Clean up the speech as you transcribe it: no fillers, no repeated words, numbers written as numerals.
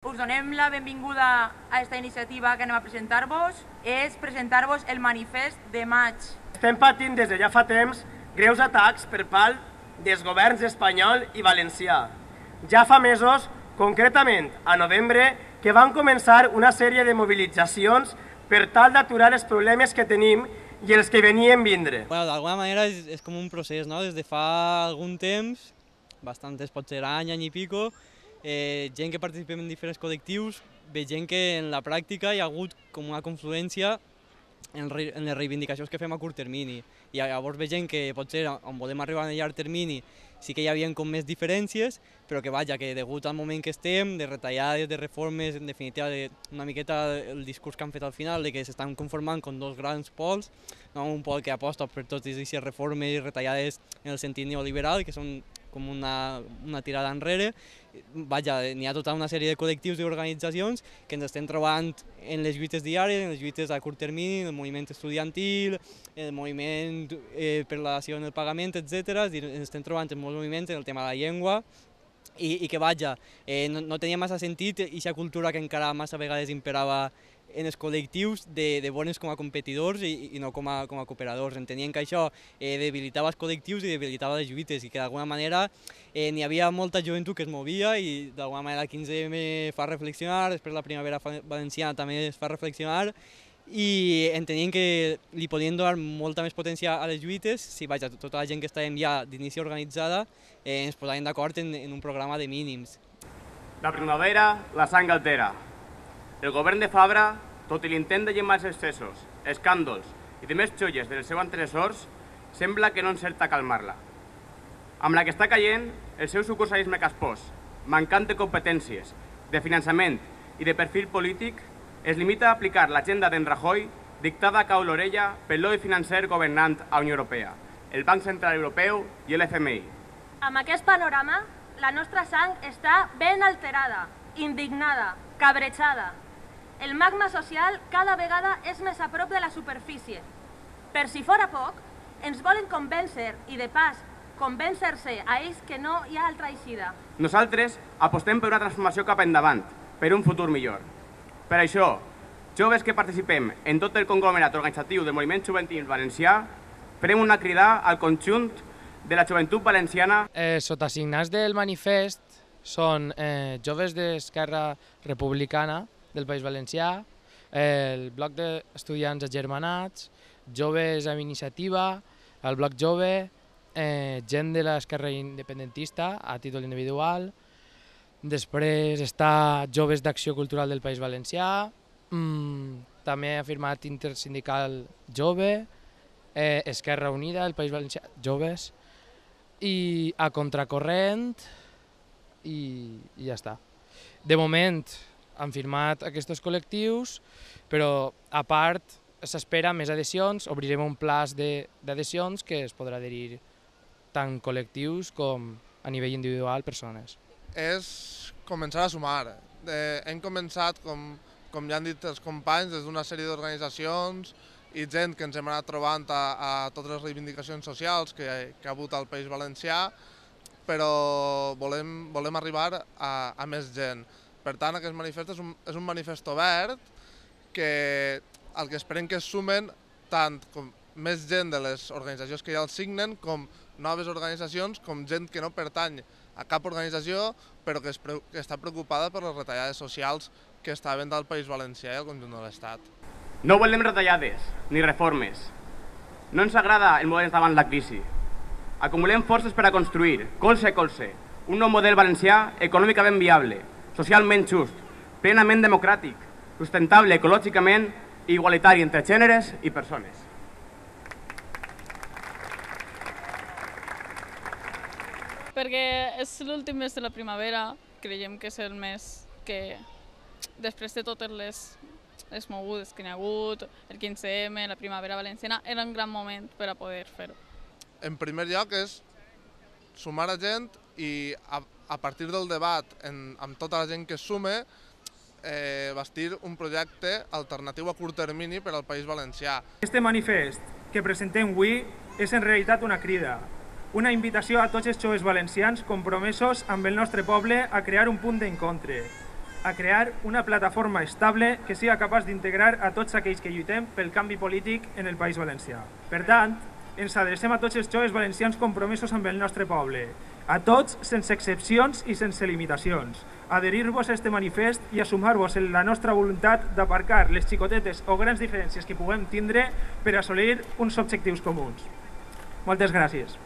us donem la benvinguda a aquesta iniciativa que anem a presentar-vos. És presentar-vos el manifest de maig. Estem patint des de ja fa temps greus atacs per part dels governs espanyol i valencià. Ja fa mesos, concretament a novembre, que van començar una sèrie de mobilitzacions per tal d'aturar els problemes que tenim i els que venien vindre. D'alguna manera és com un procés, no? Des de fa algun temps, bastantes, pot ser any i pico, gent que participem en diferents col·lectius, veiem que en la pràctica hi ha hagut com una confluència en les reivindicacions que fem a curt termini. I llavors veiem que potser on volem arribar a llarg termini sí que hi havia com més diferències, però que vaja, que degut al moment que estem, de retallades, de reformes, en definitiva, una miqueta el discurs que han fet al final, de que s'estan conformant com dos grans pols, un pol que aposta per totes aquestes reformes i retallades en el sentit neoliberal, que són com una tirada enrere. Vaja, n'hi ha tota una sèrie de col·lectius i organitzacions que ens estem trobant en les lluites diàries, en les lluites a curt termini, el moviment estudiantil, el moviment per la dació en el pagament, etc. Ens estem trobant en molts moviments en el tema de la llengua i que, vaja, no tenia massa sentit aquesta cultura que encara massa vegades imperava en els col·lectius de veure'ns com a competidors i no com a cooperadors. Entenien que això debilitava els col·lectius i debilitava les lluites i que d'alguna manera n'hi havia molta joventut que es movia i d'alguna manera el 15M fa reflexionar, després la Primavera Valenciana també es fa reflexionar i entenien que li podien donar molta més potència a les lluites si, vaja, tota la gent que estàvem ja d'inici organitzada ens posàvem d'acord en un programa de mínims. La primavera la sang altera. El govern de Fabra, tot i l'intent de llemar els excessos, escàndols i de més xolles dels seus antecessors, sembla que no encerta calmar-la. Amb la que està caient, el seu sucursalisme caspós, mancant de competències, de finançament i de perfil polític, es limita a aplicar l'agenda d'en Rajoy dictada a cau l'orella pel lobby financer governant a Unió Europea, el Banc Central Europeu i l'FMI. Amb aquest panorama, la nostra sang està ben alterada, indignada, cabrejada. El magma social cada vegada és més a prop de la superfície. Per si fora poc, ens volen convèncer i, de pas, convèncer-se a ells que no hi ha altra eixida. Nosaltres apostem per una transformació cap endavant, per un futur millor. Per això, joves que participem en tot el conglomerat organitzatiu del moviment juvenil valencià, farem una crida al conjunt de la joventut valenciana. Sota signats del manifest són joves d'Esquerra Republicana del País Valencià, el bloc d'estudiants agermanats, joves amb iniciativa, el bloc jove, gent de l'esquerra independentista a títol individual, després està joves d'Acció Cultural del País Valencià, també ha firmat Intersindical Jove, Esquerra Unida del País Valencià, joves, i a Contracorrent, i ja està. De moment han firmat aquests col·lectius, però a part s'espera més adhesions, obrirem un plaç d'adhesions que es podrà adherir tant col·lectius com a nivell individual persones. És començar a sumar. Hem començat, com ja han dit els companys, des d'una sèrie d'organitzacions i gent que ens hem anat trobant a totes les reivindicacions socials que ha hagut al País Valencià, però volem arribar a més gent. Per tant, aquest manifest és un manifest obert que el que esperem que es sumen tant com més gent de les organitzacions que ja el signen com noves organitzacions, com gent que no pertany a cap organització però que està preocupada per les retallades socials que està havent al País Valencià i al conjunt de l'Estat. No volem retallades ni reformes. No ens agrada el moure davant la crisi. Acumulem forces per a construir, colze a colze, un nou model valencià econòmicament viable, socialment just, plenament democràtic, sustentable ecològicament i igualitari entre gèneres i persones. Perquè és l'últim mes de la primavera, creiem que és el mes que, després de totes les mogudes que n'hi ha hagut, el 15M, la Primavera Valenciana, era un gran moment per a poder fer-ho. En primer lloc és sumar a gent i a partir del debat amb tota la gent que es sume, bastir un projecte alternatiu a curt termini per al País Valencià. Este manifest que presentem avui és en realitat una crida, una invitació a tots els joves valencians compromesos amb el nostre poble a crear un punt d'encontre, a crear una plataforma estable que siga capaç d'integrar a tots aquells que lluitem pel canvi polític en el País Valencià. Per tant, ens adrecem a tots els joves valencians compromesos amb el nostre poble, a tots sense excepcions i sense limitacions, adherir-vos a este manifest i a sumar-vos en la nostra voluntat d'aparcar les xicotetes o grans diferències que puguem tindre per assolir uns objectius comuns. Moltes gràcies.